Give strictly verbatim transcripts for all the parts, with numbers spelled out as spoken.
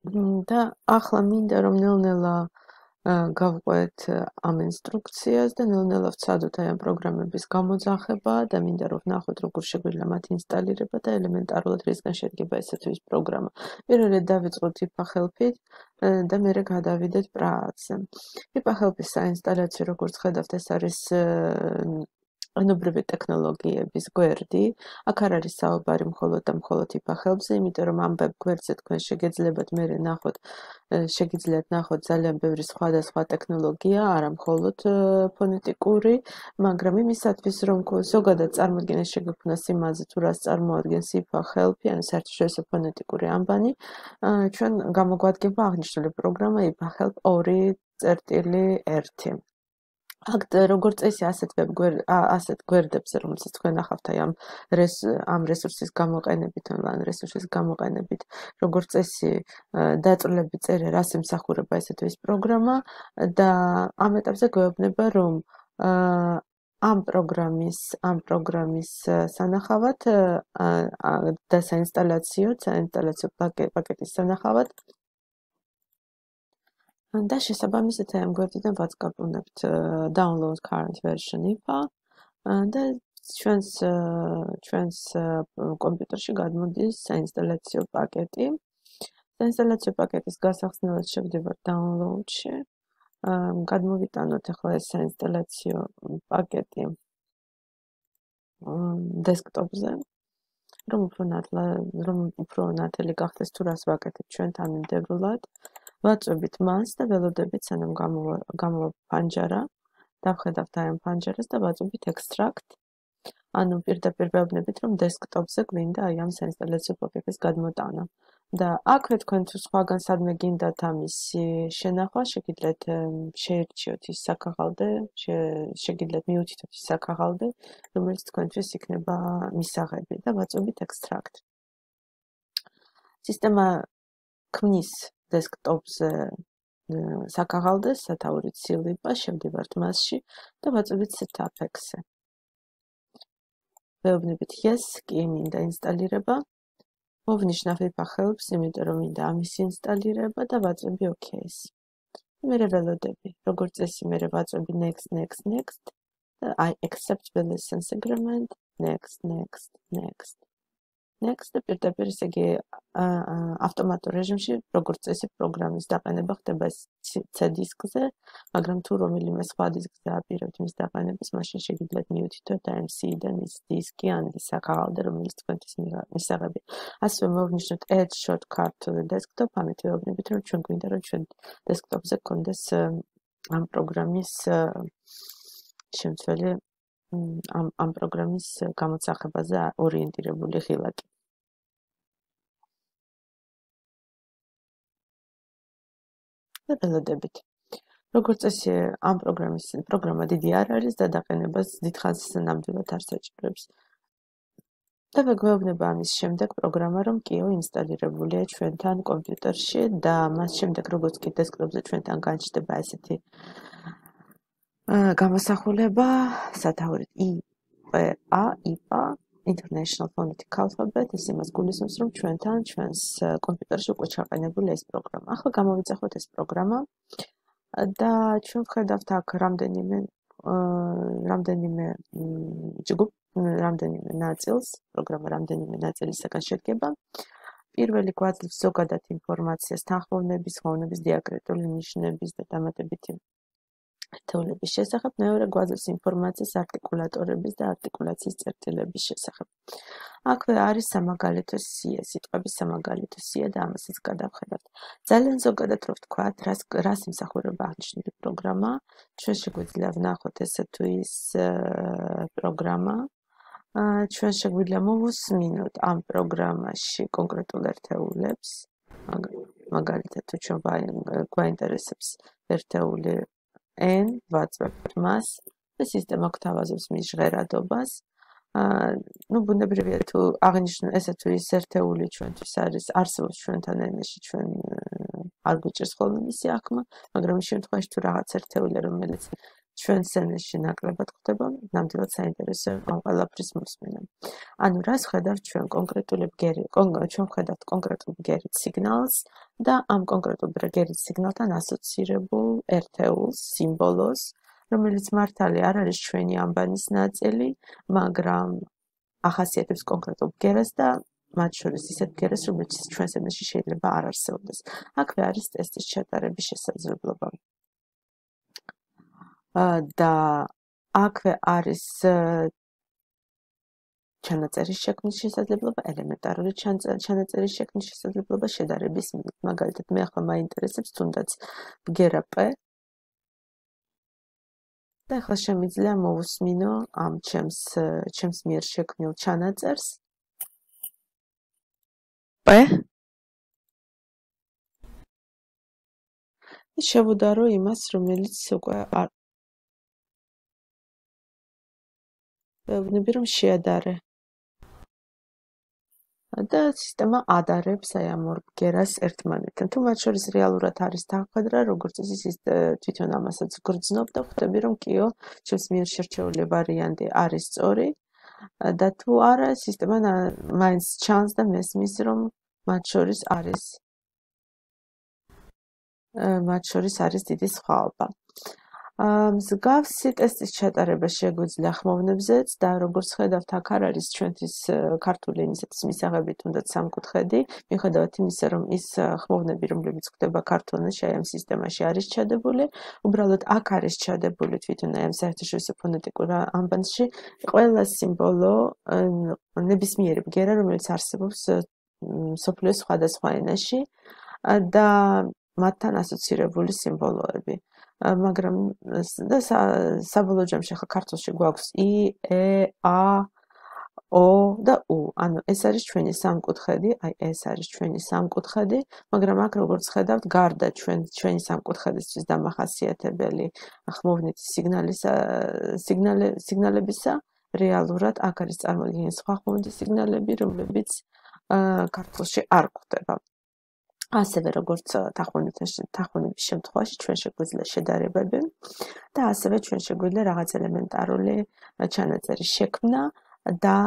და ახლა მინდა რომ ნელ-ნელა გავყვეთ ამ ინსტრუქციას და ნელ-ნელა ვცადოთ აი ამ პროგრამების გამოძახება და მინდა რომ ვნახოთ როგორ შეგვიძლია მათ ინსტალირება და ელემენტარულად რისგან შედგება ესა თუ ის პროგრამა. პირველად დავიწყოთ იფა help-ით და მერე გადავიდეთ პრააგზე. იფა help-ის საინსტალაციო როგორც ხედავთ ეს არის ენობრივი ტექნოლოგიების გვერდი. აქ არ არის საუბარი მხოლოდ და მხოლოდ იფა help-ზე, იმიტომ რომ ამ გვერდზე თქვენ შეგეძლებათ მერე ნახოთ შეგიძლიათ ნახოთ ძალიან ბევრი სხვადასხვა ტექნოლოგია, არა მხოლოდ ფონეტიკური, მაგრამ იმისათვის რომ ზოგადად წარმოდგენა შეგექმნას იმაზე თუ რას წარმოადგენს იფა help-ი, ანუ საერთაშორისო ფონეტიკური ანბანი, ჩვენ გამოგვადგება აღნიშნული პროგრამა იფა help ორი წერტილი ერთი. აქ როგორც წესი ასეთ ვებ ასეთ გვერდებზე, რომელსაც თქვენ ახავთ აი ამ ამ რესურსის გამოყენებით, ონლაინ რესურსის გამოყენებით, როგორც წესი დაწვრილები წერია, რას ემსახურება ესე თუ ის პროგრამა და ამ ეტაპზე გვეუბნება, რომ ამ პროგრამის ამ პროგრამის სანახავად და საინსტალაციო, საინსტალაციო პაკეტის სანახავად და შესაბამისად ამ გვერდიდან ვაწყაბუნებთ download current version იფა და ჩვენს ჩვენს კომპიუტერში გადმოდის საინსტალაციო პაკეტი. საინსტალაციო პაკეტის გასახსნელად შევდივარ download-ში. გადმოვიტანოთ ახლა ეს საინსტალაციო პაკეტი desktop-ზე. რომ უფრო ნათლად რომ უფრო ნათელი გახდეს თუ რას ვაკეთებ ჩვენ თანმიმდევრულად. ვაწვევით მას და ველოდებით სანამ გამოვა პანჯარა, დავხედავთ აი ამ პანჯარას და ვაწვევით extract. ანუ პირდაპირ ვეუბნებით, რომ desktop-ზე გვინდა აი ამ საინსტალაციო პაკეტის გადმოტანა. და აქვე თქვენ თუ სხვაგან სადმე გინდათ ამისი შენახვა, შეგიძლიათ შეირჩიოთ ის საქაღალდე, შეგიძლიათ მიუთითოთ ის საქაღალდე, რომელიც თქვენთვის იქნება მისაღები და ვაწვევით extract. სისტემა ქმნის desktop-ზე საქაღალდეს, სათაურით სილიპა, შევდივართ მასში და ვაწვევით setup-ზე. ვეუბნებით yes, კი მინდა ინსტალირება. მოვნიშნავ იფა help-ს, იმიტომ რომ მინდა ამის ინსტალირება და ვაწვევი OK-ს. მერე ველოდები, როგორც წესი, მერე ვაწვევი next, next, next და I accept the license agreement, next, next, next. Next და პირდაპირ ესე იგი ავტომატურ რეჟიმში, როგორც წესი, პროგრამის დაყენება ხდება C დისკზე, მაგრამ თუ რომელიმე სხვა დისკზე აპირებთ მის დაყენებას, მაშინ შეგიძლიათ მიუთითოთ აი ამ C-დან ის დისკი ან ის საქაღალდე, რომელიც თქვენთვის მისაღებია. ასევე მოვნიშნოთ add shortcut to the desktop, ამით ვეუბნებით, რომ ჩვენ გვინდა რომ ჩვენ desktop-ზე გქონდეს ამ პროგრამის შემცველი ამ ამ პროგრამის გამოსახებაზე ორიენტირებული ღილაკი. და ველოდებით. როგორც წესი, ამ პროგრამის პროგრამა დიდი არ არის და დაყენებას დიდხანს ნამდვილად არ საჭიროებს. და გვეუბნება ამის შემდეგ პროგრამა, რომ კიო ინსტალირებულია ჩვენთან კომპიუტერში და მას შემდეგ როგორც კი desktop-ზე ჩვენთან განჩნდება ესეთი გამოსახულება, სათაურით იფა, იფა International Phonetic Alphabet, ეს იმას გულისხმობს, რომ ჩვენთან ჩვენს კომპიუტერში უკვე ჩაყენებული ეს პროგრამა. ახლა გამოვიძახოთ ეს პროგრამა და ჩვენ ვხედავთ აქ რამდენიმე რამდენიმე ჯგუფ, რამდენიმე ნაწილს, პროგრამა რამდენიმე ნაწილისაგან შედგება. პირველი გვაძლევს ზოგადად ინფორმაციას თანხმოვნების, ხოვნების, დიაკრიტული ნიშნების და დამატებითი ერთეულების შესახებ, მეორე გვაძლევს ინფორმაციას არტიკულატორების და არტიკულაციის წერტილების შესახებ. აქვე არის სამაგალითო სია, სიტყვების სამაგალითო სია და ამასაც გადავხედავთ. ძალიან ზოგადად რო ვთქვათ, რას რას იმსახურება აღნიშნული პროგრამა, ჩვენ შეგვიძლია ვნახოთ ესე თუ ის პროგრამა. ჩვენ შეგვიძლია მოვუსმინოთ ამ პროგრამაში კონკრეტულ ერთეულებს, მაგალითად თუ ჩვენ გვაინტერესებს ერთეული n, ვაწვევთ მას და სისტემა გვთავაზობს მის ჟღერადობას. ну, ბუნებრივია თუ აღნიშნულ ესე თუ ის ერთეული ჩვენთვის არის არსებობს ჩვენთან ენაში, ჩვენ არ გვიჭირს ხოლმე მისი აღქმა, მაგრამ იმ შემთხვევაში თუ რაღაც ერთეული, რომელიც ჩვენ სცენაში ნაკლებად ხდება, ნამდვილად საინტერესო ამ ყველაფრის მოსმენა. ანუ რას ხედავთ ჩვენ კონკრეტული ბგერი, ჩვენ ხედავთ კონკრეტულ ბგერით სიგნალს და ამ კონკრეტულ ბგერით სიგნალთან ასოცირებულ ერთეულს, სიმბოლოს, რომელიც მართალი არ არის ჩვენი ამბანის ნაწილი, მაგრამ ახასიათებს კონკრეტულ ბგერას და მათ შორის ისეთ ბგერას, რომელიც ჩვენ სცენაში შეიძლება არ არსებობდეს. აქვე არის ტესტის ჩატარების შესაძლებლობა. და აქვე არის ჩანაწერის შექმნის შესაძლებლობა, ელემენტარული ჩანაწერის შექმნის შესაძლებლობა შედარების მიმართ. მაგალითად, მე ახლა მაინტერესებს თუნდაც ბგერა P და ახლა შემიძლია მოვუსმინო ამ ჩემს ჩემს მიერ შექმნილ ჩანაწერს P და შევუდარო იმას, რომელიც უკვე არ ვეუბნები, რომ შეადარე. და სისტემა ადარებს აი ამ ორ ბგერას ერთმანეთთან. თუ მათ შორის რეალურად არის დახვედრა, როგორც ის ის თვითონ ამასაც გრძნობ და ხვდები, რომ კიო, ჩემს მიერ შერჩეული ვარიანტი არის სწორი და თუ არა, სისტემა მაინც ჩანს და მესმის, რომ მათ შორის არის მათ შორის არის დიდი სხვაობა. მსგავსი ტესტის ჩატარება შეგვიძლია ხმოვნებზეც და როგორც ხედავთ, აქ არ არის ჩვენთვის ქართული ინსტიტუტის მისაღები თუნდაც სამკუთხედი, მიუხედავად იმისა, რომ ის ხმოვნები, რომლებიც ხდება ქართულენში, აი ამ სისტემაში არის ჩადებული, უბრალოდ აქ არის ჩადებული თვითონ აი ამ საერთაშორისო ფონეტიკურ ამბანში ყველა სიმბოლო ნებისმიერი ბგერა, რომელიც არსებობს მსოფლიოს სხვადასხვა ენაში და მათთან ასოცირებული სიმბოლოები. მაგრამ და საბოლოო ჯამში ახლა ქართულში გვაქვს I, E, A, O და U. ანუ ეს არის ჩვენი სამკუთხედი, აი ეს არის ჩვენი სამკუთხედი, მაგრამ აქ როგორც ხედავთ, გარდა ჩვენ ჩვენი სამკუთხედისთვის დამახასიათებელი ხმოვნითი სიგნალის სიგნალე სიგნალებისა, რეალურად აქ არის წარმოდგენილი სხვა ხმოვნითი სიგნალები, რომლებიც ქართულში არ გვხვდება. ასევე როგორც თანხმოვნების შემთხვევაში ჩვენ შეგვიძლია შედარებები და ასევე ჩვენ შეგვიძლია რაღაც ელემენტარული ჩანაწერის შექმნა და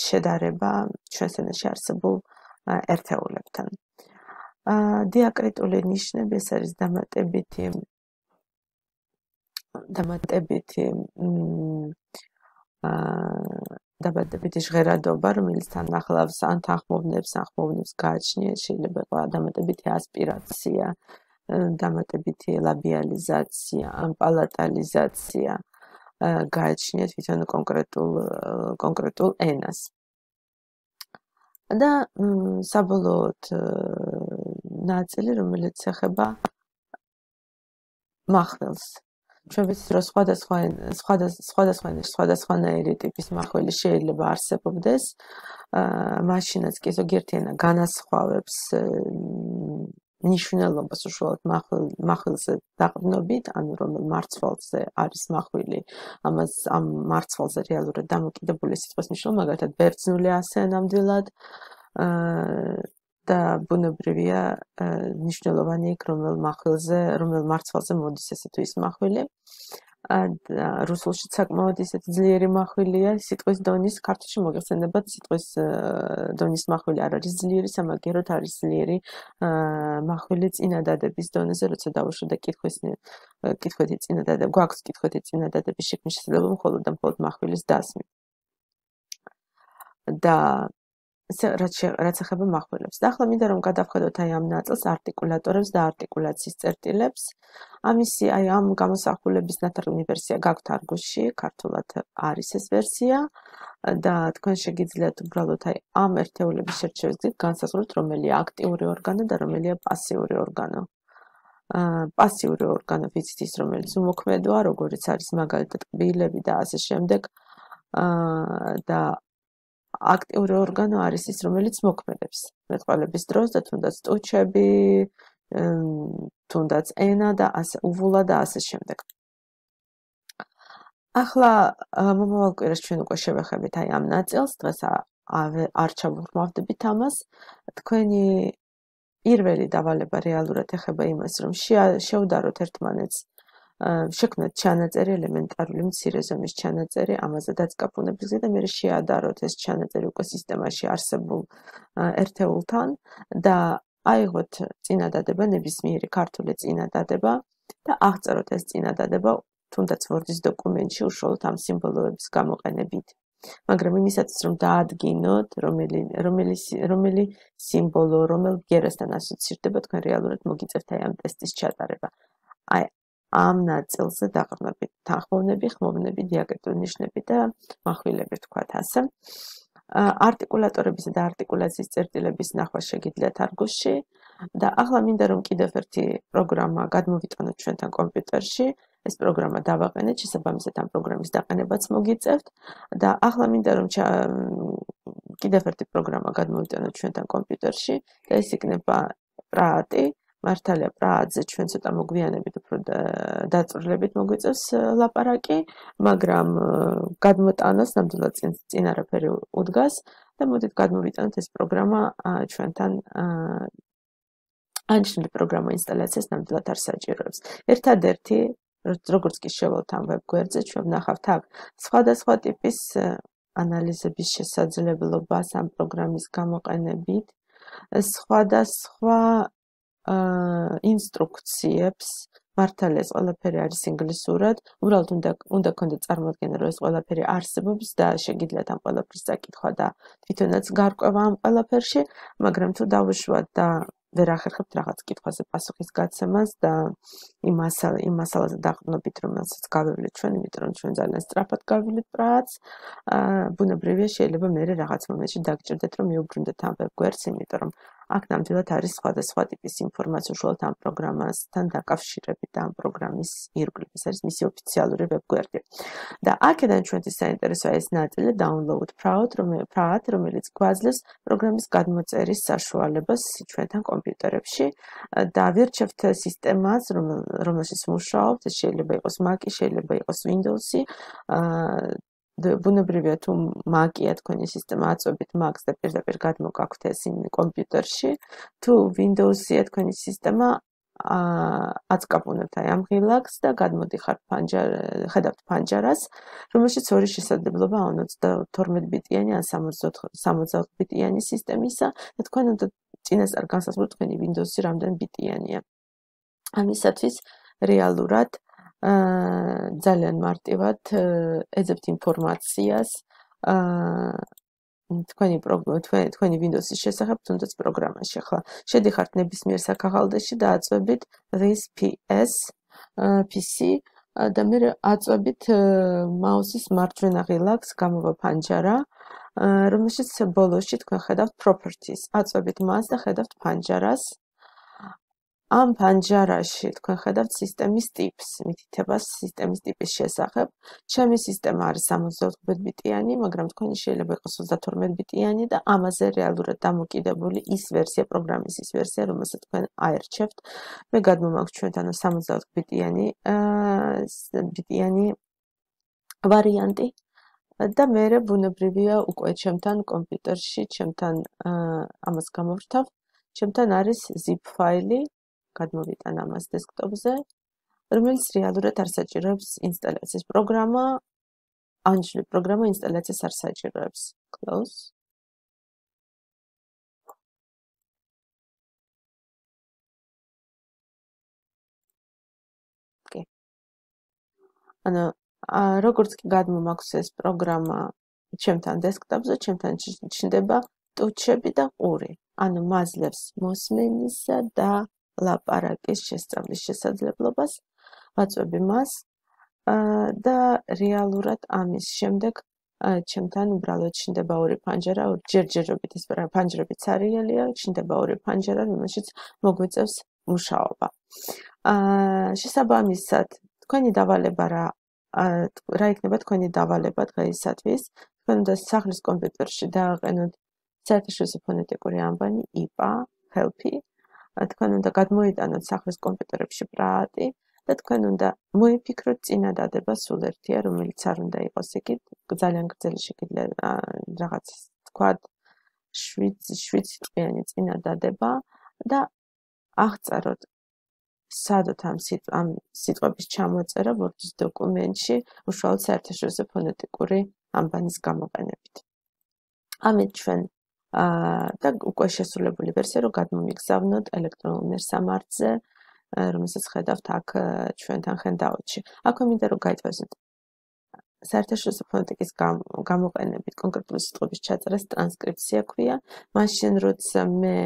შედარება ჩვენ სცენაში არსებულ ერთეულებთან. დიაკრიტული ნიშნები ეს არის დამატებითი დამატებითი დამატებითი ჟღერადობა, რომელიც თან ახლავს ან თანხმოვნებს, ან ხმოვნებს გააჩნიათ, შეიძლება იყოს დამატებითი ასპირაცია, დამატებითი ლაბიალიზაცია, ან პალატალიზაცია გააჩნიათ თვითონ კონკრეტულ კონკრეტულ ენას. და საბოლოოდ ნაწილი, რომელიც ეხება მახვილს. ჩვენ ვიცით, რომ სხვადასხვა სხვადასხვა სხვადასხვანაირი ტიპის მახვილი შეიძლება არსებობდეს. მაშინაც კი ზოგიერთი ენა განასხვავებს ნიშნულობას უშუალოდ მახვილზე დაყრდნობით, ანუ რომელ მარცვალზე არის მახვილი, ამას ამ მარცვალზე რეალურად დამოკიდებული სიტყვის მნიშვნელობა, მაგალითად, ბერძნული ასეა ნამდვილად და ბუნებრივია ნიშნულოვანი იქ რომელ მახვილზე, რომელ მარცვალზე მოდის ესე თუ ის მახვილი. რუსულში საკმაოდ ისეთი ძლიერი მახვილია სიტყვის დონის, ქართულში მოგეხსენებათ სიტყვის დონის მახვილი არ არის ძლიერი, სამაგიეროდ არის ძლიერი მახვილი წინადადების დონეზე, როცა დავუშვათ და კითხვის კითხვეთი წინადადები, გვაქვს კითხვეთი წინადადების შექმნის შესაძლებლობა მხოლოდ და მხოლოდ mahvilis დასმით. და რაც ეხება mahvilებს. და ახლა მინდა რომ გადავხედოთ აი ამ ნაწილს არტიკულატორებს და არტიკულაციის წერტილებს. ამისი აი ამ გამოსახულების ნათარგმნი ვერსია გაქვთ არგუსში, ქართულად არის ეს ვერსია და თქვენ შეგიძლიათ უბრალოდ აი ამ ერთეულების შერჩევის გზით განსაზღვროთ რომელია აქტიური ორგანო და რომელია პასიური ორგანო. პასიური ორგანო ვიცით ის რომელიც უმოქმედოა, როგორიც არის მაგალითად კბილები და ასე შემდეგ და აქტიური ორგანო არის ის რომელიც მოქმედებს მეტყველების დროს და თუნდაც ტუჩები, თუნდაც ენა და ასე უვულა და ასე შემდეგ. ახლა მომავალ კვირას ჩვენ უკვე შევეხებით აი ამ ნაწილს, დღეს არ ჩავუხმავდებით ამას. თქვენი პირველი დავალება რეალურად ეხება იმას, რომ შეუდაროთ ერთმანეთს შექმნათ ჩანაწერი, ელემენტარული მცირე ზომის ჩანაწერი, ამაზე დაწკაფუნების გზით და მე შეადაროთ ეს ჩანაწერი უკვე სისტემაში არსებულ ერთეულთან და აიღოთ წინადადება, ნებისმიერი ქართული წინადადება და აღწეროთ ეს წინადადება თუნდაც Word-ის დოკუმენტში უშუალოდ ამ სიმბოლოების გამოყენებით. მაგრამ იმისათვის რომ დაადგინოთ, რომელი რომელი რომელი სიმბოლო, რომელ ბგერასთან ასოცირდება, თქვენ რეალურად მოგიწევთ აი ამ ტესტის ჩატარება. აი ამ ნაწილზე დაყრდნობით თანხმოვნები, ხმოვნები, დიაკრიტული ნიშნები და מחვილები თქვათ ასე. არტიკულატორებისა და არტიკულაციის წერტილების ნახვა შეგიძლიათ არგუსში და ახლა მინდა რომ კიდევ ერთი პროგრამა გადმოვიტანოთ ჩვენთან კომპიუტერში. ეს პროგრამა დავაყენეთ, შესაბამისად ამ პროგრამის დაყენებაც მოგიწევთ და ახლა მინდა რომ კიდევ ერთი პროგრამა გადმოვიტანოთ ჩვენთან კომპიუტერში და ეს იქნება პრაატი. მართალია პრაატზე ჩვენ ცოტა მოგვიანებით უფრო დაწვრილებით მოგვიწევს ლაპარაკი, მაგრამ გადმოტანას ნამდვილად წინ არაფერი უდგას და მოდით გადმოვიტანოთ ეს პროგრამა ჩვენთან ანიშნული პროგრამა ინსტალაციას ნამდვილად არ საჭიროებს. ერთადერთი როგორც კი შევალთ ამ ვებგვერდზე, ჩვენ ვნახავთ აქ სხვადასხვა ტიპის ანალიზების შესაძლებლობას ამ პროგრამის გამოყენებით, სხვადასხვა ინსტრუქციებს, მართალია ეს ყველაფერი არის ინგლისურად, უბრალოდ უნდა უნდა გქონდეთ წარმოადგენა, რომ ეს ყველაფერი არსებობს და შეგიძლიათ ამ ყველაფრის წაკითხვა და თვითონაც გარკვევა ამ ყველაფერში, მაგრამ თუ დავუშვათ და ვერ ახერხებთ რაღაც კითხვაზე პასუხის გაცემას და იმ მასალ იმ მასალაზე დაყრდნობით, რომელსაც გავევლით ჩვენ, იმიტომ რომ ჩვენ ძალიან სწრაფად გავივლით პრაატს, ბუნებრივია შეიძლება მე რაღაც მომენტში დაგჭირდეთ, რომ მიუბრუნდეთ ამ ვებგვერდს, იმიტომ რომ აქ ნამდვილად არის სხვადასხვა ტიპის ინფორმაცია უშუალოდ ამ პროგრამასთან დაკავშირებით და ამ პროგრამის ირგვლივ. ეს არის მისი ოფიციალური ვებგვერდი. და აქედან ჩვენთვის საინტერესოა ეს ნაწილი download Praat, რომელიც გვაძლევს პროგრამის გადმოწერის საშუალებას ჩვენთან კომპიუტერებში და ვირჩევთ სისტემას, რომელშიც მუშაობთ, ეს შეიძლება იყოს Mac-ი, შეიძლება იყოს Windows-ი, ბუნებრივია თუ Mac-ია თქვენი სისტემა აწვევით Mac-ს და პირდაპირ გადმოგაქვთ ეს კომპიუტერში, თუ Windows-ია თქვენი სისტემა, აწკაპუნებთ აი ამ ღილაკს და გადმოდიხართ ფანჯარა, ხედავთ ფანჯარას, რომელშიც ორი შესაძლებლობა ან ოცდათორმეტ ბიტიანი ან სამოცდაოთხ ბიტიანი სისტემისა და თქვენ უნდა წინასწარ განსაზღვროთ თქვენი Windows-ი რამდენი ბიტიანია. ამისათვის რეალურად ძალიან მარტივად ეძებთ ინფორმაციას თქვენი თქვენი Windows-ის შესახებ, თუნდაც პროგრამაში. ახლა შედიხართ ნებისმიერ საქაღალდეში და აწვევით this ps pc და მე აწვევით მაუსის მარჯვენა ღილაკს გამოვა ფანჯარა, რომელშიც ბოლოში თქვენ ხედავთ properties. აწვევით მას და ხედავთ ფანჯარას. ამ ფანჯარაში თქვენ ხედავთ სისტემის ტიპს, მითითებას სისტემის ტიპის შესახებ. ჩემი სისტემა არის სამოცდაოთხ ბიტიანი, მაგრამ თქვენი შეიძლება იყოს ოცდათორმეტ ბიტიანი და ამაზე რეალურად დამოკიდებული ის ვერსია, პროგრამის ის ვერსია, რომელსაც თქვენ აერჩევთ. მე გადმომაქვს ჩვენთან სამოცდაოთხ ბიტიანი ბიტიანი ვარიანტი და მე ბუნებრივია უკვე ჩემთან კომპიუტერში, ჩემთან ამას გამოვრთავ. ჩემთან არის zip ფაილი გადმოვიტან ამას დესკტოპზე, რომელიც რეალურად არ საჭიროებს ინსტალაციის პროგრამა, ანიშნული პროგრამა ინსტალაციას არ საჭიროებს. Close. Okay. ანუ როგორც კი გადმომაქვს ეს პროგრამა ჩემთან დესკტოპზე, ჩემთან ჩნდება ტუჩები და ყური. ანუ მაძლევს მოსმენისა და ლაპარაკის შესწავლის შესაძლებლობას, ვაწვევი მას და რეალურად ამის შემდეგ ჩემთან უბრალოდ ჩნდება ორი ფანჯარა, ჯერჯერობით ეს ფანჯრები ცარიელია, ჩნდება ორი ფანჯარა, რომელშიც მოგვიწევს მუშაობა. შესაბამისად, თქვენი დავალება რა რა იქნება თქვენი დავალება დღეისათვის? თქვენ უნდა სახლის კომპიუტერში დააყენოთ საერთაშორისო ფონეტიკური ანბანი I P A, help-ი. თქვენ უნდა გადმოიტანოთ სახლის კომპიუტერებში პრაატი და თქვენ უნდა მოიფიქროთ წინადადება სულ ერთია, რომელიც არ უნდა იყოს იგი, ძალიან გრძელი შეგიძლიათ რაღაც თქვათ შვიდ შვიდ წლიანი წინადადება და აღწეროთ ვსადოთ ამ ამ სიტყვების ჩამოწერა Word-ის დოკუმენტში უშუალოდ საერთაშორისო ფონეტიკური ანბანის გამოყენებით. ამით ჩვენ და უკვე შესრულებული ვერსია რომ გადმომიგზავნოთ ელექტრონულ ნერსამართზე, რომელსაც ხედავთ აქ ჩვენთან ჰენდაუთში. აქვე მინდა რომ გაითვალისწინოთ საერთაშორისო ფონეტიკის გამოყენებით კონკრეტული სიტყვების ჩაწერას ტრანსკრიფცია ქვია. მაშინ როცა მე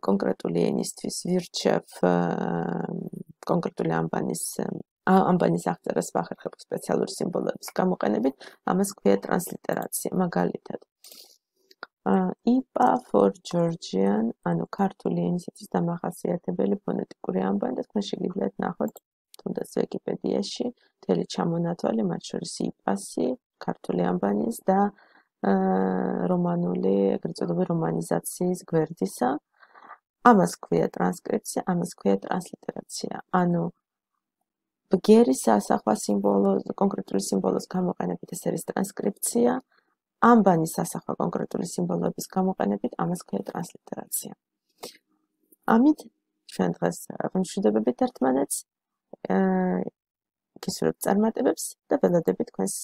კონკრეტული ენისთვის ვირჩევ კონკრეტული ანბანის ანბანის აღწერას ვახერხებ სპეციალური სიმბოლოების გამოყენებით, ამას ქვია ტრანსლიტერაცია. მაგალითად I P A for Georgian, ანუ ქართული ენისათვის დამახასიათებელი ფონეტიკური ანბანი და თქვენ შეგიძლიათ ნახოთ თუნდაც ვიკიპედიაში მთელი ჩამონათვალი, მათ შორის I P A S-ი, ქართული ანბანის და რომანული, ეგრეთ წოდებული რომანიზაციის გვერდისა. ამას ქვია ტრანსკრიფცია, ამას ქვია ტრანსლიტერაცია. ანუ ბგერი სასახვა სიმბოლოს, კონკრეტული სიმბოლოს გამოყენებით ეს არის ტრანსკრიფცია. ანბანის სასახვა კონკრეტული სიმბოლოების გამოყენებით ამას ქვია ტრანსლიტერაცია. ამით ჩვენ დღეს ვიმშვიდობებით ერთმანეთს, გისურვებთ წარმატებებს და ველოდებით თქვენს